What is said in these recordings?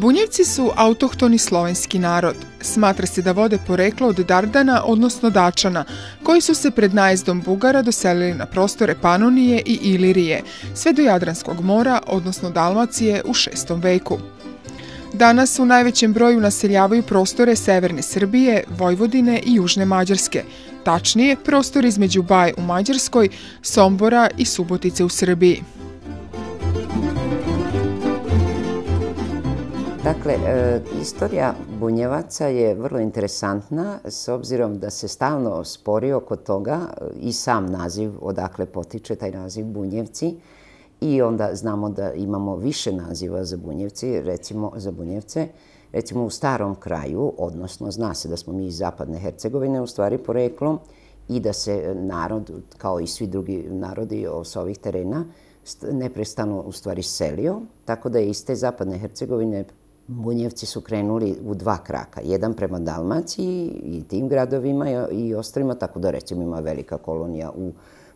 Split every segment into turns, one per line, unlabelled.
Bunjevci su autohtoni slovenski narod. Smatra se da vode poreklo od Dardana, odnosno Dačana, koji su se pred najezdom Bugara doselili na prostore Panonije i Ilirije, sve do Jadranskog mora, odnosno Dalmacije, u 6. veku. Danas u najvećem broju naseljavaju prostore severne Srbije, Vojvodine i južne Mađarske, tačnije prostor između Baje u Mađarskoj, Sombora i Subotice u Srbiji.
Dakle, istorija Bunjevaca je vrlo interesantna s obzirom da se stalno spori oko toga i sam naziv odakle potiče taj naziv Bunjevci i onda znamo da imamo više naziva za Bunjevci, recimo za Bunjevce. Recimo u Starom kraju, odnosno zna se da smo mi iz Zapadne Hercegovine u stvari poreklom i da se narod, kao i svi drugi narodi s ovih terena, neprestano u stvari selio, tako da je iz te Zapadne Hercegovine Bunjevci su krenuli u dva kraka. Jedan prema Dalmaciji i tim gradovima i ostalima, tako da recimo ima velika kolonija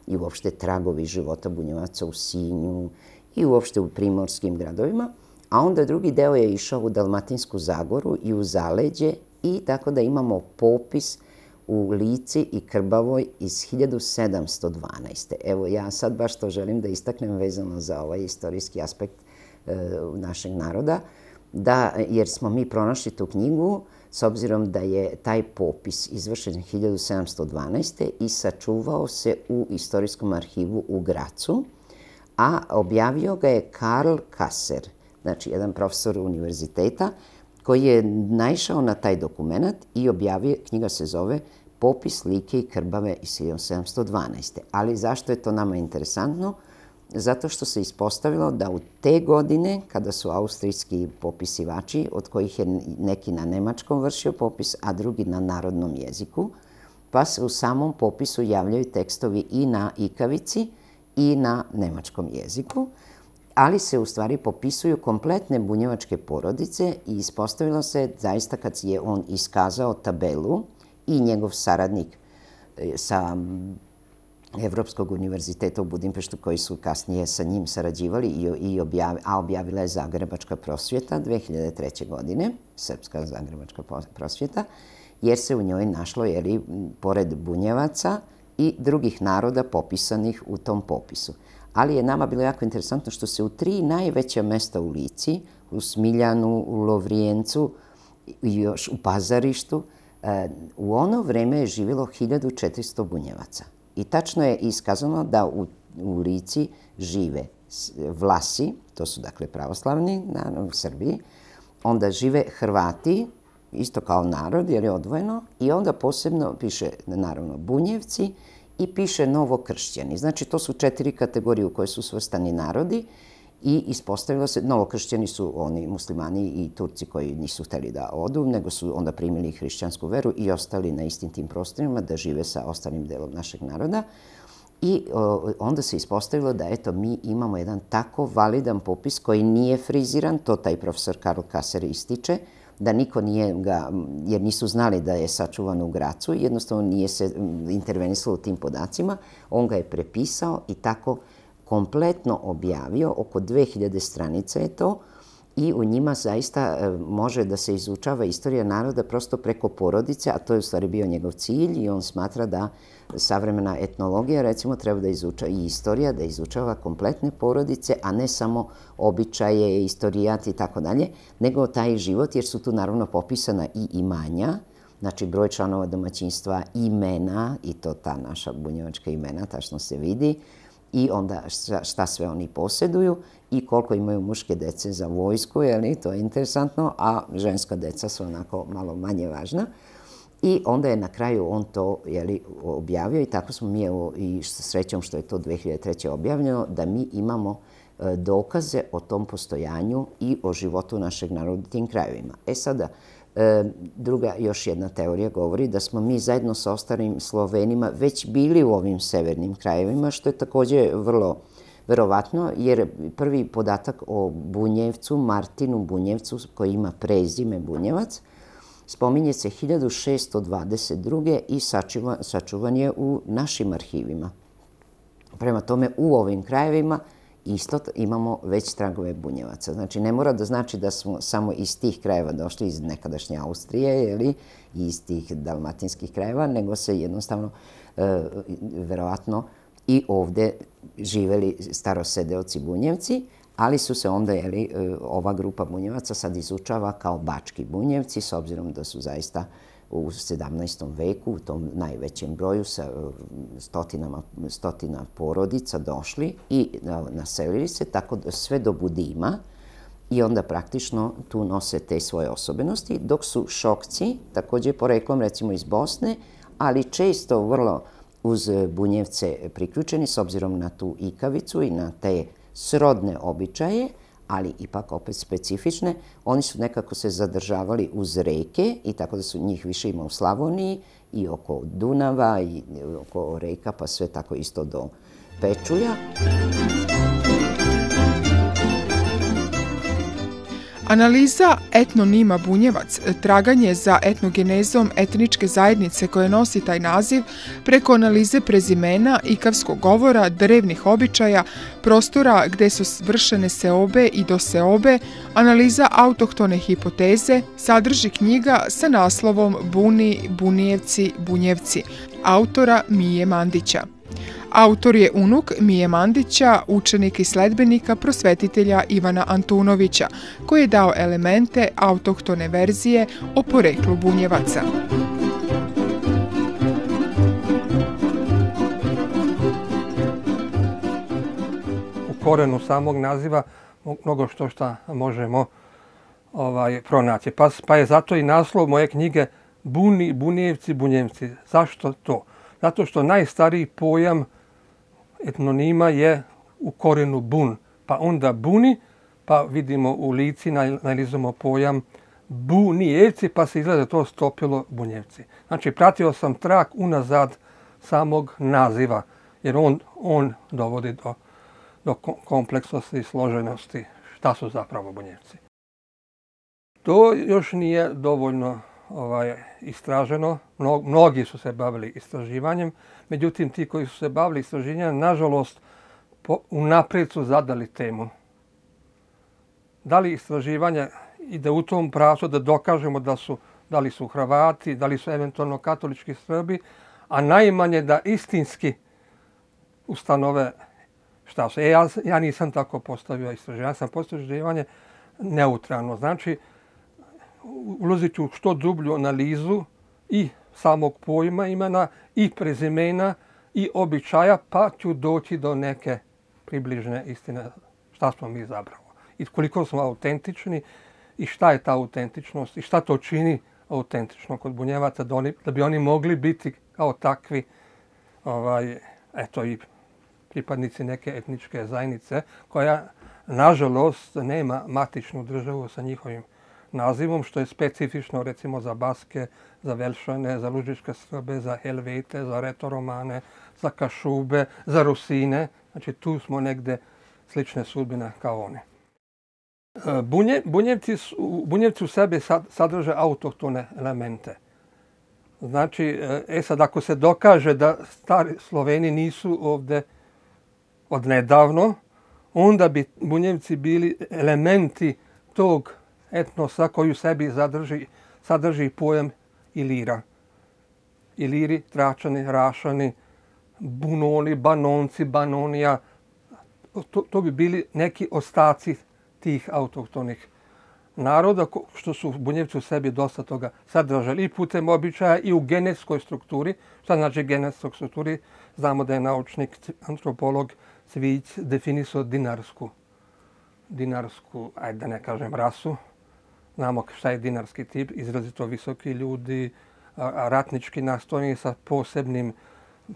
i uopšte tragovi života Bunjevaca u Sinju i uopšte u primorskim gradovima. A onda drugi deo je išao u Dalmatinsku Zagoru i u Zaleđe i tako da imamo popis u Lici i Krbavoj iz 1712. Evo ja sad baš to želim da istaknem vezano za ovaj istorijski aspekt našeg naroda, jer smo mi pronašli tu knjigu s obzirom da je taj popis izvršen 1712. i sačuvao se u Istorijskom arhivu u Gracu, a objavio ga je Karl Kasser, znači jedan profesor univerziteta koji je naišao na taj dokument i objavio, knjiga se zove Popis Like i Krbave iz 1712. Ali zašto je to nama interesantno? Zato što se ispostavilo da u te godine, kada su austrijski popisivači, od kojih je neki na nemačkom vršio popis, a drugi na narodnom jeziku, pa se u samom popisu javljaju tekstovi i na ikavici i na nemačkom jeziku, ali se u stvari popisuju kompletne bunjevačke porodice i ispostavilo se zaista kad je on iskazao tabelu i njegov saradnik sa Evropskog univerziteta u Budimpeštu, koji su kasnije sa njim sarađivali, a objavila je Zagrebačka prosvjeta 2003. godine, Srpska Zagrebačka prosvjeta, jer se u njoj našlo, pored Bunjevaca i drugih naroda popisanih u tom popisu. Ali je nama bilo jako interesantno što se u 3 najveća mesta u Lici, u Smiljanu, u Lovrijencu i još u Pazarištu, u ono vreme je živjelo 1400 Bunjevaca. I tačno je iskazano da u Lici žive Vlasi, to su dakle pravoslavni u Srbiji, onda žive Hrvati, isto kao narod jer je odvojeno, i onda posebno piše naravno Bunjevci i piše Novokršćani. Znači to su 4 kategorije u koje su svrstani narodi i ispostavilo se, Novokršćani su oni muslimani i Turci koji nisu hteli da odu, nego su onda primili hrišćansku veru i ostali na istim tim prostorima da žive sa ostalim delom našeg naroda. I onda se ispostavilo da eto mi imamo jedan tako validan popis koji nije friziran, to taj profesor Karl Kasser ističe, da niko nije ga, jer nisu znali da je sačuvan u Gracu, jednostavno nije se intervenisalo u tim podacima, on ga je prepisao i tako kompletno objavio, oko 2000 stranica je to i u njima zaista može da se izučava istorija naroda prosto preko porodice, a to je u stvari bio njegov cilj i on smatra da savremena etnologija recimo treba da izučava i istorija, da izučava kompletne porodice, a ne samo običaje, istorijat i tako dalje, nego taj život, jer su tu naravno popisana i imanja, znači broj članova domaćinstva, imena, i to ta naša bunjevačka imena, tačno se vidi, i onda šta sve oni posjeduju i koliko imaju muške dece za vojsku, to je interesantno, a ženska deca su onako malo manje važna. I onda je na kraju on to objavio i tako smo mi, i srećom što je to 2003. objavljeno, da mi imamo dokaze o tom postojanju i o životu našeg naroda u tim krajevima. Sada, druga, još jedna teorija govori da smo mi zajedno sa ostalim Slovenima već bili u ovim severnim krajevima, što je također vrlo verovatno, jer prvi podatak o Bunjevcu, Martinu Bunjevcu, koji ima prezime Bunjevac, spominje se 1622. i sačuvan je u našim arhivima. Prema tome, u ovim krajevima isto imamo već tragove bunjevaca. Znači, ne mora da znači da smo samo iz tih krajeva došli, iz nekadašnje Austrije, i iz tih dalmatinskih krajeva, nego se jednostavno, verovatno, i ovde živeli starosedeoci Bunjevci, ali su se onda, ova grupa Bunjevaca sad izučava kao bački Bunjevci, s obzirom da su zaista u 17. veku, u tom najvećem broju, sa stotina porodica došli i naselili se, tako da sve do Budima, i onda praktično tu nose te svoje osobenosti, dok su Šokci, takođe poreklom recimo iz Bosne, ali često vrlo uz Bunjevce priključeni, s obzirom na tu ikavicu i na te srodne običaje, ali ipak opet specifične. Oni su nekako se zadržavali uz reke i tako da su njih više ima u Slavoniji i oko Dunava i oko reka, pa sve tako isto do Pečulja.
Analiza etnonima Bunjevac, traganje za etnogenezom etničke zajednice koje nosi taj naziv preko analize prezimena, ikavskog govora, drevnih običaja, prostora gde su vršene seobe i doseobe, analiza autohtone hipoteze, sadrži knjiga sa naslovom Buni, Bunijevci, Bunjevci, autora Mije Mandića. Autor je unuk Mije Mandića, učenik i sledbenika prosvetitelja Ivana Antunovića, koji je dao elemente autohtone verzije o poreklu Bunjevaca.
U korenu samog naziva mnogo što možemo pronaći. Pa je zato i naslov moje knjige Buni, Bunijevci, Bunjevci. Zašto to? Zato što najstariji pojam etnonima je u korenu bun, pa onda buni, pa vidimo u Lici nalazimo pojam bunijevci, pa se izgleda to stopilo Bunjevci. Znači, pratio sam trag unazad samog naziva, jer on dovodi do kompleksnosti i složenosti šta su zapravo Bunjevci. To još nije dovoljno istraženo. Mnogi su se bavili istraživanjem, međutim ti koji su se bavili istraživanjem, nažalost, unaprijed su zadali temu. Da li istraživanje ide u tom pravcu da dokažemo da li su Hrvati, da li su eventualno katolički Srbi, a najmanje da istinski ustanove šta su. Ja nisam tako postavio istraživanje. Ja sam postavio istraživanje neutralno. Znači, ulazit ću u što dublju analizu i samog pojma imena, i prezimena, i običaja, pa ću doći do neke približne istine šta smo mi zapravo. I koliko smo autentični i šta je ta autentičnost i šta to čini autentično kod Bunjevaca da bi oni mogli biti kao takvi i pripadnici neke etničke zajednice koja, nažalost, nema matičnu državu sa njihovim nazivom, što je specifično recimo za Baske, za Velšane, za Lužičke Srbe, za Helvete, za Retoromane, za Kašube, za Rusine. Znači tu smo negde slične sudbine kao oni. Bunjevci u sebi sadrže autohtone elemente. Znači, sad ako se dokaže da stari Sloveni nisu ovde od nedavno, onda bi Bunjevci bili elementi tog etnosa koji u sebi sadrži pojam Ilira. Iliri, Tračani, Rašani, Bunoni, Banonci, Banonija. To bi bili neki ostaci tih autohtonih naroda, što su Bunjevci u sebi dosta toga sadržali i putem običaja i u genetskoj strukturi. Šta znači genetskoj strukturi? Znamo da je naučnik, antropolog Cvijić definisao dinarsku, ajde da ne kažem rasu. Znamo šta je dinarski tip, izrazito visoki ljudi, ratnički nastrojeni sa posebnim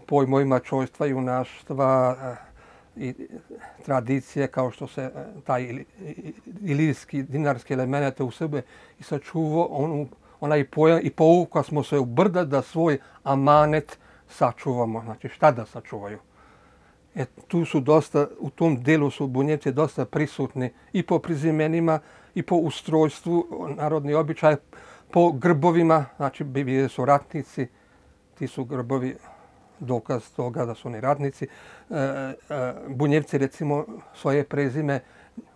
pojmovima čojstva, junaštva i tradicije, kao što se taj ilirski dinarski element u sebe i sačuvao, onaj pojam i povukla smo se u brda da svoj amanet sačuvamo. Znači šta da sačuvaju? Tu su dosta, u tom delu su Bunjevci dosta prisutni i po prezimenima, i po ustrojstvu, narodni običaj, po grbovima, znači bili su ratnici, ti su grbovi dokaz toga da su oni radnici. Bunjevci recimo svoje prezime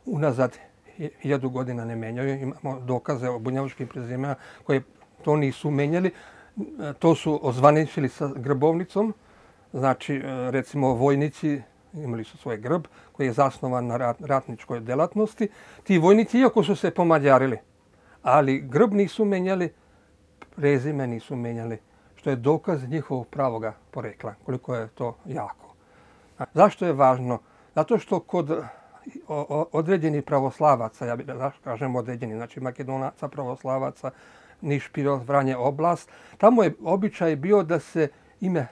unazad 1000 godina ne menjaju. Imamo dokaze o bunjevačkim prezimena koje to nisu menjali. To su ozvaničili sa grbovnicom. Znači, recimo, vojnici imali su svoj grb koji je zasnovan na ratničkoj delatnosti. Ti vojnici, iako su se pomađarili, ali grb nisu menjali, prezime nisu menjali, što je dokaz njihovog pravoga porekla, koliko je to jako. Zašto je važno? Zato što kod određenih pravoslavaca, ja bih kažem određeni, znači Makedonaca, pravoslavaca, Niš, Pirot, Vranje, oblast, tamo je običaj bio da se ime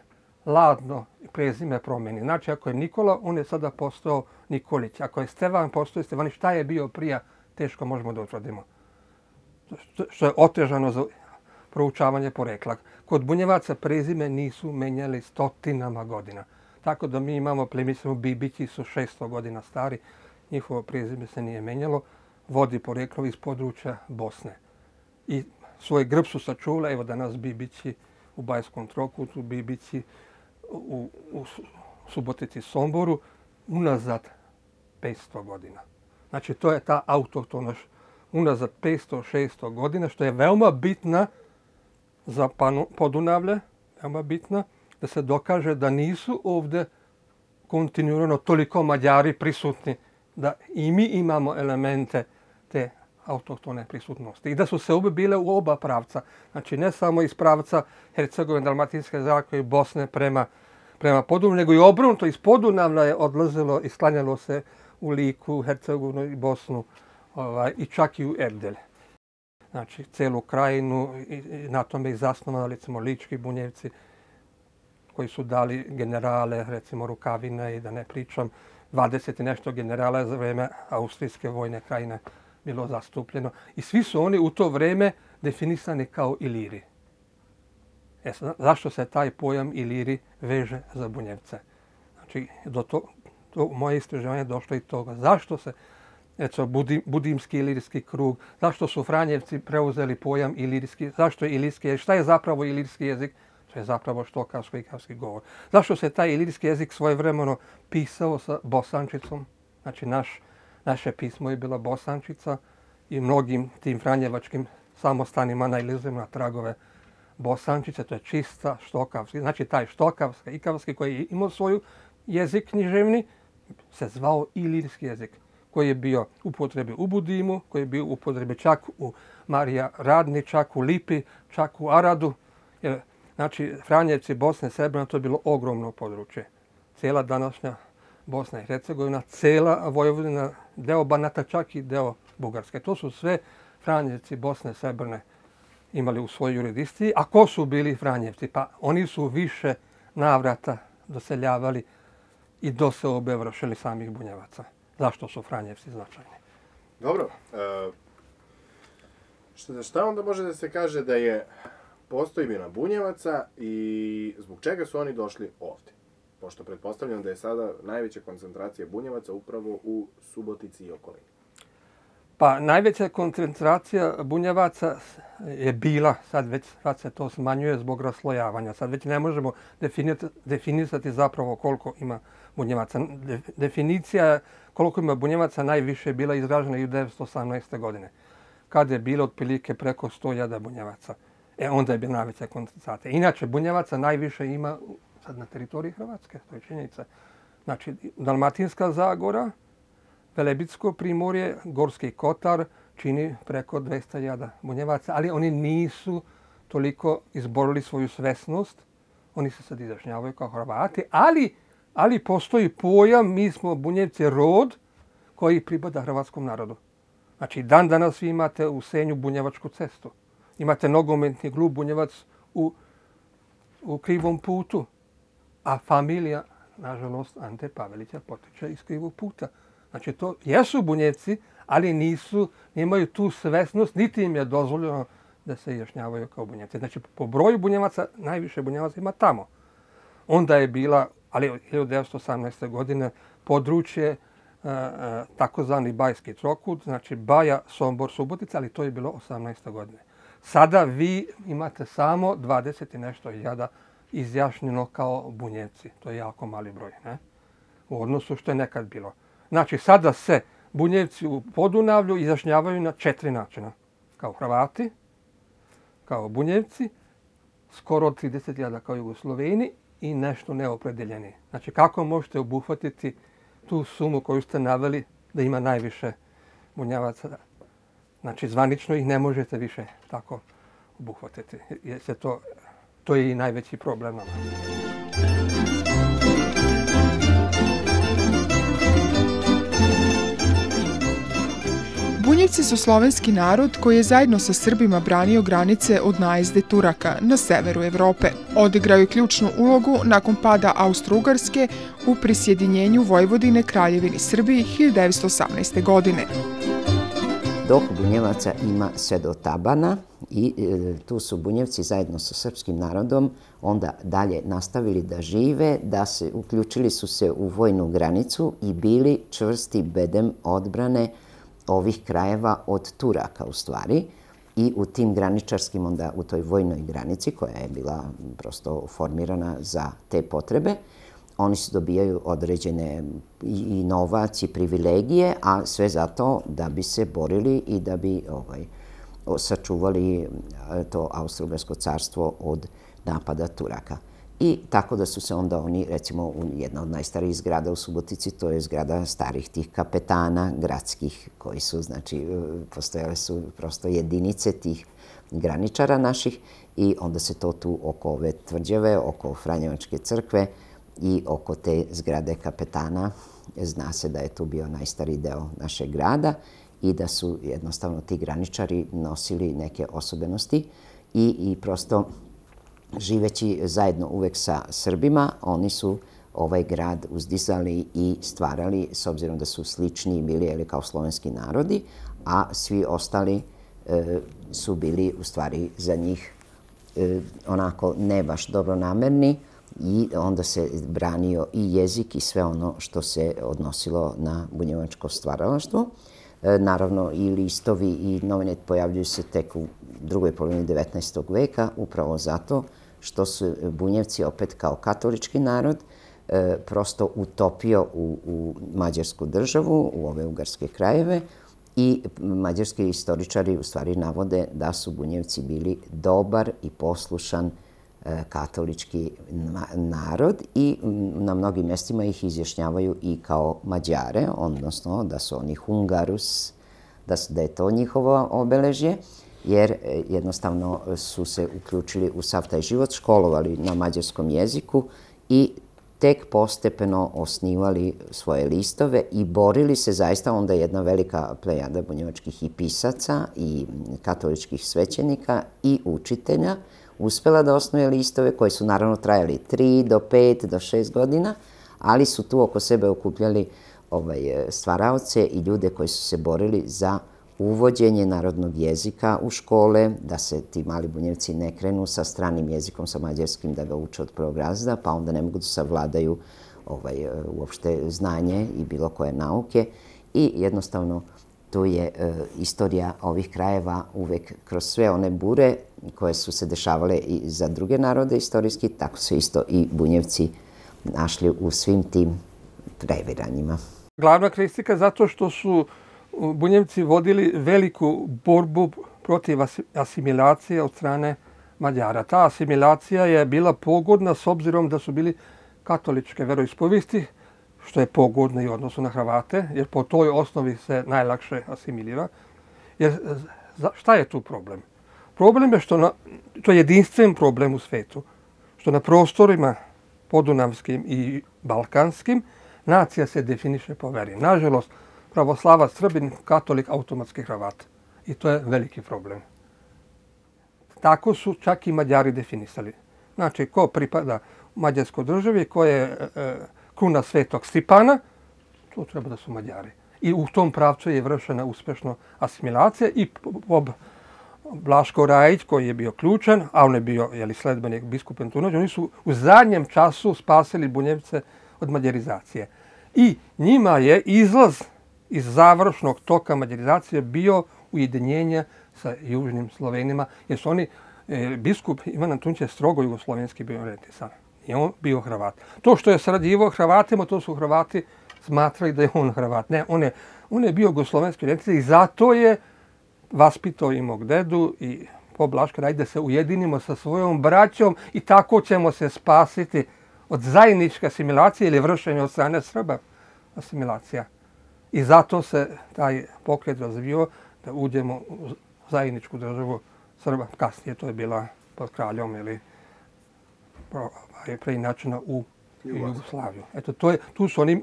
Ladno prezime promeni. Znači, ako je Nikola, on je sada postao Nikolić. Ako je Stevan, postao je Stevanić. Šta je bio prije, teško možemo da utvrdimo. Što je otežano za proučavanje porekla. Kod Bunjevaca prezime nisu menjali stotinama godina. Tako da mi imamo plemice Bibići su 600 godina stari. Njihovo prezime se nije menjalo. Vodi poreklo iz područja Bosne. I svoj grb su sačuvali. Evo danas Bibići u Bajskom Trokutu, Bibići u Subotici, Somboru, unazad 500 godina. Znači, to je ta autohtonost unazad 500-600 godina, što je veoma bitna za Podunavlje, veoma bitna, da se dokaže da nisu ovdje kontinuirano toliko Mađari prisutni, da i mi imamo elemente te autohtone prisutnosti. I da su se obe bile u oba pravca. Znači, ne samo iz pravca Hercegovine, Dalmatinske zagore i Bosne prema Podunavlju, nego i obrnuto. Iz Podunavlja je odlazilo i sklanjalo se u Liku, Hercegovinu i Bosnu i čak i u Erdel. Znači, celu krajinu i na tome i zasnovano, recimo, lički Bunjevci koji su dali generale, recimo Rukavine i da ne pričam, 20 i nešto generala za vreme Austrijske vojne krajine bilo zastupljeno. I svi su oni u to vreme definisani kao Iliri. Zašto se taj pojam Iliri veže za Bunjevce? Znači, do moje istraživanje došlo i toga. Zašto se, recimo, Budimski ilirski krug, zašto su Franjevci preuzeli pojam ilirski, zašto je ilirski jezik, šta je zapravo ilirski jezik? To je zapravo štokavsko-ikavski govor. Zašto se taj ilirski jezik svojevremeno pisao sa bosančicom? Znači, naše pismo je bila bosančica i mnogim tim franjevačkim samostanima nailazimo na tragove bosančice. To je čista štokavski. Znači, taj štokavski, ikavski koji je imao svoju jezik književni se zvao ilirski jezik, koji je bio u upotrebi u Budimu, koji je bio u upotrebi čak u Marija Radni, čak u Lipi, čak u Aradu. Jer, znači, Franjevci, Bosne, Srbina, to je bilo ogromno područje. Cijela današnja Bosna i Hercegovina, cijela Vojvodina, deo Banata, čak i deo Bugarske. To su sve Franjevci, Bosne, Srbine imali u svojoj jurisdikciji. A ko su bili Franjevci? Pa oni su više navrata doseljavali i doseobe vršili samih Bunjevaca. Zašto su Franjevci značajni?
Dobro. Šta onda može da se kaže da je postojbina Bunjevaca i zbog čega su oni došli ovdje? Pošto pretpostavljam da je sada najveća koncentracija Bunjevaca upravo u Subotici i okolini.
Pa najveća koncentracija Bunjevaca je bila, sad se to smanjuje zbog raslojavanja. Sad već ne možemo definisati zapravo koliko ima Bunjevaca. Definicija koliko ima Bunjevaca najviše je bila izražena 1918. godine, kada je bilo otprilike preko 100.000 Bunjevaca. Onda je bila najveća koncentracija. Inače, Bunjevaca najviše ima sad na teritoriji Hrvatske, to je činjenica. Znači, Dalmatinska zagora, Velebitsko primorje, Gorski kotar čini preko 200.000 Bunjevaca, ali oni nisu toliko izborili svoju svesnost. Oni se sad izjašnjavaju kao Hrvati, ali postoji pojam, mi smo Bunjevci rod koji pripada hrvatskom narodu. Znači, dan danas vi imate u Senju Bunjevačku cestu. Imate nogometni klub Bunjevac u Krivom putu, a familija, nažalost, Ante Pavelića potiče iz Krivog puta. Znači, to jesu Bunjevci, ali nemaju tu svesnost, niti im je dozvoljeno da se izjašnjavaju kao Bunjevci. Znači, po broju Bunjevaca, najviše Bunjevaca ima tamo. Onda je bila, ali 1918. godine, područje takozvani Bajski trokut, znači Baja, Sombor, Subotica, ali to je bilo 18. godine. Sada vi imate samo 20 i nešto hiljada izjašnjeno kao Bunjevci. To je jako mali broj, ne? U odnosu što je nekad bilo. Znači, sada se Bunjevci u Podunavlju izjašnjavaju na 4 načina. Kao Hrvati, kao Bunjevci, skoro 30.000 kao Jugosloveni i nešto neopredeljeni. Znači, kako možete obuhvatiti tu sumu koju ste naveli da ima najviše Bunjevaca? Znači, zvanično ih ne možete više tako obuhvatiti. To je i najveći problem nama.
Bunjevci su slovenski narod koji je zajedno sa Srbima branio granice od najezde Turaka na severu Evrope. Odigrao je ključnu ulogu nakon pada Austro-Ugarske u prisjedinjenju Vojvodine Kraljevini Srbiji 1918. godine.
Dok Bunjevaca ima sve do Tabana i tu su Bunjevci zajedno sa srpskim narodom onda dalje nastavili da žive, uključili su se u vojnu granicu i bili čvrsti bedem odbrane ovih krajeva od Turaka u stvari. I u tim graničarskim, onda u toj vojnoj granici koja je bila prosto formirana za te potrebe, oni se dobijaju određene i novac i privilegije, a sve zato da bi se borili i da bi sačuvali to Austro-Ugarsko carstvo od napada Turaka. I tako da su se onda oni, recimo, jedna od najstarijih zgrada u Subotici, to je zgrada starih tih kapetana gradskih, koji su, znači, postojale su prosto jedinice tih graničara naših i onda se to tu oko ove tvrđave, oko Franjevačke crkve i oko te zgrade kapetana, zna se da je tu bio najstariji deo našeg grada i da su jednostavno ti graničari nosili neke osobenosti i prosto živeći zajedno uvek sa Srbima, oni su ovaj grad uzdizali i stvarali, s obzirom da su slični bili kao slovenski narodi, a svi ostali su bili u stvari za njih onako ne baš dobronamerni i onda se branio i jezik i sve ono što se odnosilo na bunjevačko stvaralaštvo. Naravno, i listovi i novine pojavljuju se tek u drugoj polovini 19. veka, upravo zato što su Bunjevci opet kao katolički narod prosto utopio u mađarsku državu, u ove ugarske krajeve i mađarski istoričari u stvari navode da su Bunjevci bili dobar i poslušan katolički narod i na mnogim mjestima ih izjašnjavaju i kao Mađare, odnosno da su oni Hungarus, da je to njihovo obeležje, jer jednostavno su se uključili u sav taj život, školovali na mađarskom jeziku i tek postepeno osnivali svoje listove i borili se zaista onda jedna velika plejada bunjevačkih i pisaca i katoličkih svećenika i učitelja uspela da osnuje listove koji su naravno trajali 3 do 5 do 6 godina, ali su tu oko sebe okupljali stvaraoce i ljude koji su se borili za uvođenje narodnog jezika u škole, da se ti mali Bunjevci ne krenu sa stranim jezikom, sa mađarskim, da ga uče od prvog razreda, pa onda ne mogu da savladaju uopšte znanje i bilo koje nauke. I jednostavno tu je istorija ovih krajeva uvek kroz sve one bure koje su se dešavale i za druge narode istorijski, tako su isto i Bunjevci našli u svim tim previranjima.
Glavna kritika zato što su Bunjevci vodili veliku borbu protiv asimilacije od strane Mađara. Ta asimilacija je bila pogodna s obzirom da su bili katoličke veroispovesti, što je pogodno i u odnosu na Hrvate, jer po toj osnovi se najlakše asimilira. Jer šta je tu problem? Problem je što, to je jedinstven problem u svetu, što na prostorima podunavskim i balkanskim nacija se definiše po veri. Nažalost, pravoslavac, Srbin, katolik, automatski Hrvat. I to je veliki problem. Tako su čak i Mađari definisali. Znači, ko pripada mađarskoj državi, ko je kruna Svetog Stipana, to treba da su Mađari. I u tom pravcu je vršena uspešno asimilacija i Blaško Rajić, koji je bio ključan, a on je bio sledbenik biskupa Antunovića, oni su u zadnjem času spasili Bunjevce od mađarizacije. I njima je izlaz iz završnog toka mađarizacije bio ujedinjenje sa južnim Slovenima, jer su oni biskup Ivan Antunić je strogo jugoslovenski bio orijentisan. I on bio Hrvat. To što je sarađivao Hrvatima, to su Hrvati smatrali da je on Hrvat. Ne, on je bio jugoslovenski orijentisan i zato je vaspitao i mog dedu i Blaška, ajde se ujedinimo sa svojom braćom i tako ćemo se spasiti od zajedničke asimilacije ili vršenja od strane Srba asimilacija. I zato se taj pokret razvio da uđemo u zajedničku državu Srba. Kasnije to je bila pod kraljom ili preinačena u Jugoslaviju. Eto, tu su oni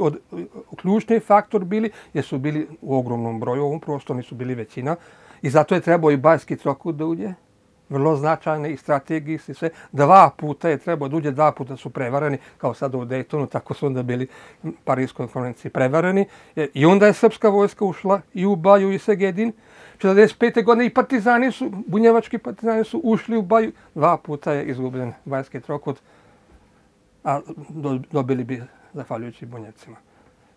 ključni faktor bili, jer su bili u ogromnom broju, ovom prostoru nisu bili većina. I zato je trebao i Banjski trokut da uđe. Vrlo značajne i strategijski i sve. 2 puta je trebao da uđe, 2 puta su prevareni, kao sada u Dejtonu, tako su onda bili u Parijskoj konferenciji prevareni. I onda je srpska vojska ušla i u Baju i Segedin. 1945. godine i partizani su, bunjevački partizani su ušli u Baju. 2 puta je izgubljen Banjski trokut, a dobili bi zahvaljujući Bunjevcima.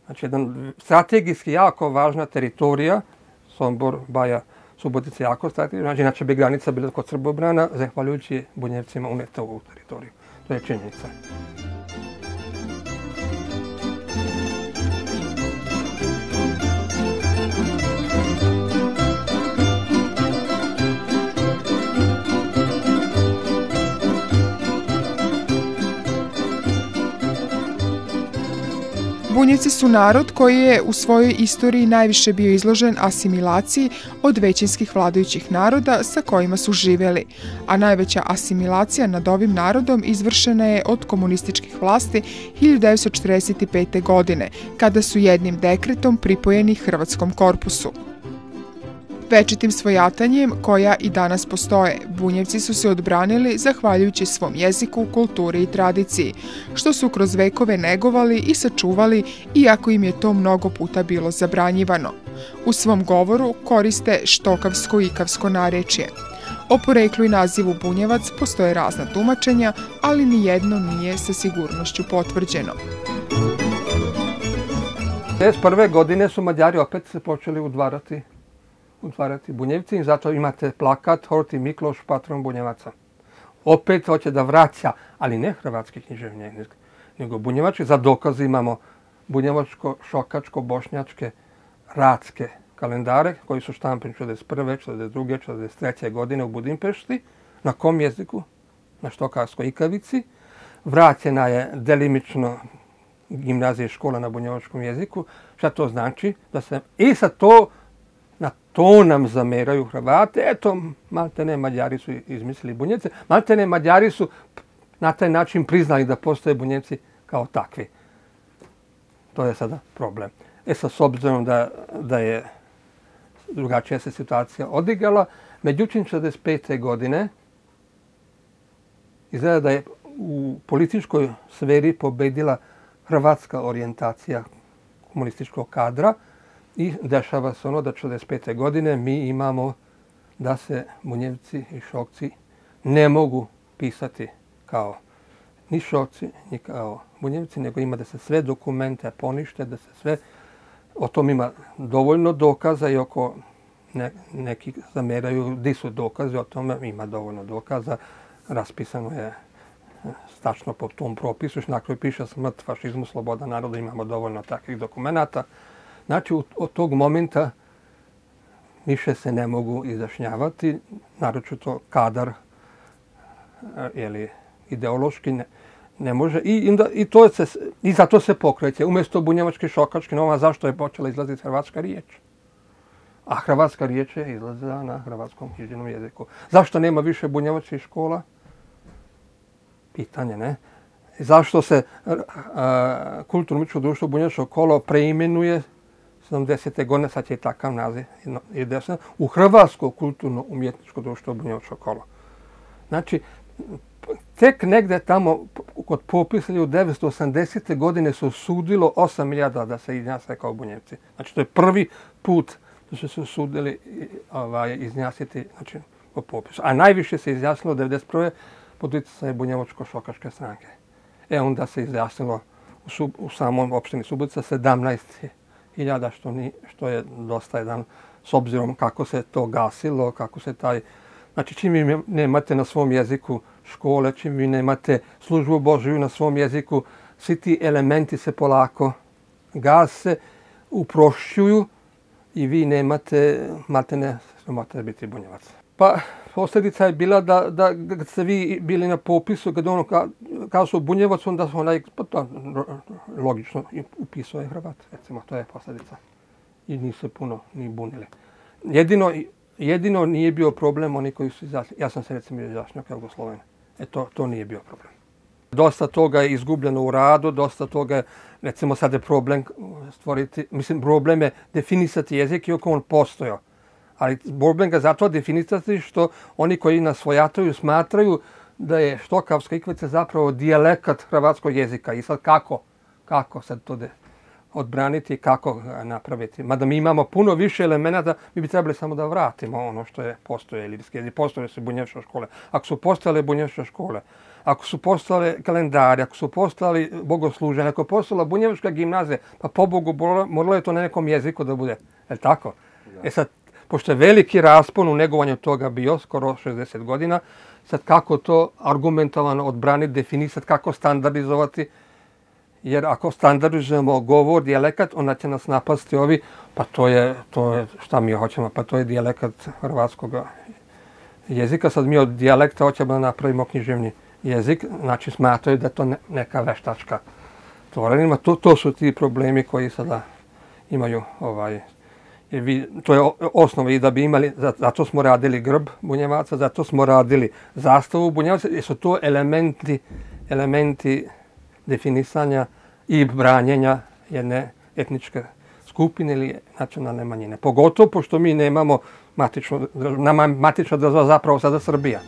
Znači, jedan strategijski jako važna teritorija, Sombor, Baja, Subotica jako strategija, znači inače bi granica bila kod Srbobrana, zahvaljujući Bunjevcima uneta u ovu teritoriju. To je činjenica.
Bunjevci su narod koji je u svojoj istoriji najviše bio izložen asimilaciji od većinskih vladajućih naroda sa kojima su živjeli, a najveća asimilacija nad ovim narodom izvršena je od komunističkih vlasti 1945. godine, kada su jednim dekretom pripojeni Hrvatskom korpusu. Večitim svojatanjem, koja i danas postoje, Bunjevci su se odbranili zahvaljujući svom jeziku, kulturi i tradiciji, što su kroz vekove negovali i sačuvali, iako im je to mnogo puta bilo zabranjivano. U svom govoru koriste štokavsko i ikavsko narečje. O poreklu i nazivu Bunjevac postoje razna tumačenja, ali nijedno nije sa sigurnošću potvrđeno.
1991. godine su Mađari opet se počeli udvarati Bunjevci i zato imate plakat Horti Mikloš, patron Bunjevaca. Opet hoće da vraća, ali ne hrvatski književnik, nego bunjevački. Za dokaz imamo bunjevačko, šokačko, bošnjačke, ratske kalendare koji su štampani 1941., 1942., 1943. godine u Budimpešti. Na kom jeziku? Na štokavskoj ikavici. Vraćena je delimično gimnazija i škola na bunjevačkom jeziku. Šta to znači? I sad to nam zameraju Hrvate. Eto, maltene Mađari su izmislili Bunjevce. Maltene Mađari su na taj način priznali da postoje Bunjevci kao takvi. To je sada problem. Sad, s obzirom da je drugačija se situacija odigrala, međutim, 1965. godine izgleda da je u političkoj sferi pobedila hrvatska orijentacija komunističkog kadra i dešava se ono da 1945. godine mi imamo da se Bunjevci i Šokci ne mogu pisati kao ni Šokci, ni kao Bunjevci, nego ima da se sve dokumente ponište, da se sve, o tom ima dovoljno dokaza i oko neki zameraju di su dokazi, o tome ima dovoljno dokaza, raspisano je tačno po tom propisu, na kraju piše smrt fašizmu, sloboda naroda, imamo dovoljno takvih dokumenata. Znači, od tog momenta više se ne mogu izjašnjavati, naročito kadar ili ideološki ne može. I zato se pokreće. Umjesto bunjevački, šokački, nova, zašto je počela izlaziti hrvatska riječ? A hrvatska riječ je izlazila na hrvatskom književnom jeziku. Zašto nema više bunjevačkih škola? Pitanje, ne? Zašto se kulturno-umjetničko društvo Bunjevačko kolo preimenuje 70. godine, sad će i takav naziv, u Hrvatsko kulturno-umjetničko društvo Bunjevačko kolo. Znači, tek negde tamo kod popisa 1980. godine su osudilo 8.000 da se izjasne kao Bunjevci. Znači, to je prvi put da su se osudili izjasniti po popisu. A najviše se izjasnilo 1991. pod utjecajem Bunjevačko-šokačke stranke. Onda se izjasnilo u samom opštini Subotica 17.000, što je dosta jedan, s obzirom kako se to gasilo, kako se taj Znači, čim vi nemate na svom jeziku škole, čim vi nemate službu Božiju na svom jeziku, svi ti elementi se polako gase, uprošćuju i vi nemate biti Bunjevac. Pa, posljedica je bila da kad ste vi bili na popisu, kad ono kao su Bunjevac, onda su logično upisao je Hrvat. Recimo, to je posljedica. I nisu se puno ni bunili. Jedino nije bio problem oni koji su izašli. Ja sam se recimo izašnjao kao Jugosloven. To nije bio problem. Dosta toga je izgubljeno u radu, dosta toga je, recimo sad je problem stvoriti, problem je definisati jezik iako on postojao. Ali problem ga zato definisati što oni koji nas svojataju smatraju da je štokavska ikvica zapravo dijalekat hrvatskog jezika. I sad kako sad to odbraniti, kako napraviti. Mada mi imamo puno više elemenata, mi bi trebali samo da vratimo ono što je postoje ilirski jezik. Postoje su bunjevačke škole. Ako su postojale bunjevačke škole, ako su postojale kalendari, ako su postojali bogosluženje, ako je postojala bunjevačka gimnazija, pa pobogu moralo je to na nekom jeziku da bude. Je li tako? Da. Sad, pošto je veliki raspon u negovanju toga bio, skoro 60 godina, sad kako to argumentovano odbraniti, definisati, kako standardizovati, jer ako standardizujemo govor, dijalekat, onda će nas napasti ovi, pa to je šta mi hoćemo, pa to je dijalekat hrvatskog jezika. Sad mi od dijalekta hoćemo da napravimo književni jezik, znači smatraju da je to neka veštačka tvorenima. To su ti problemi koji sada imaju to je osnova i da bi imali, zato smo radili grb Bunjevaca, zato smo radili zastavu Bunjevaca, jer su to elementi definisanja i branjenja jedne etničke skupine ili nacionalne manjine. Pogotovo pošto mi nemamo matična država zapravo sada Srbija.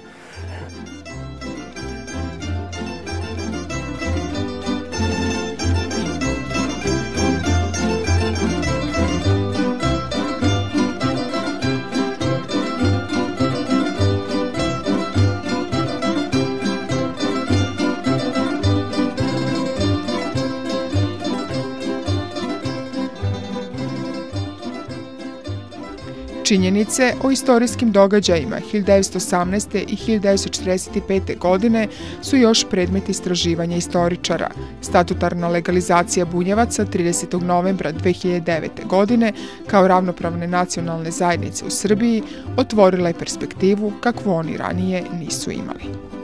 Činjenice o istorijskim događajima 1918. i 1945. godine su još predmet istraživanja istoričara. Statutarna legalizacija Bunjevaca 30. novembra 2009. godine kao ravnopravne nacionalne zajednice u Srbiji otvorila je perspektivu kakvu oni ranije nisu imali.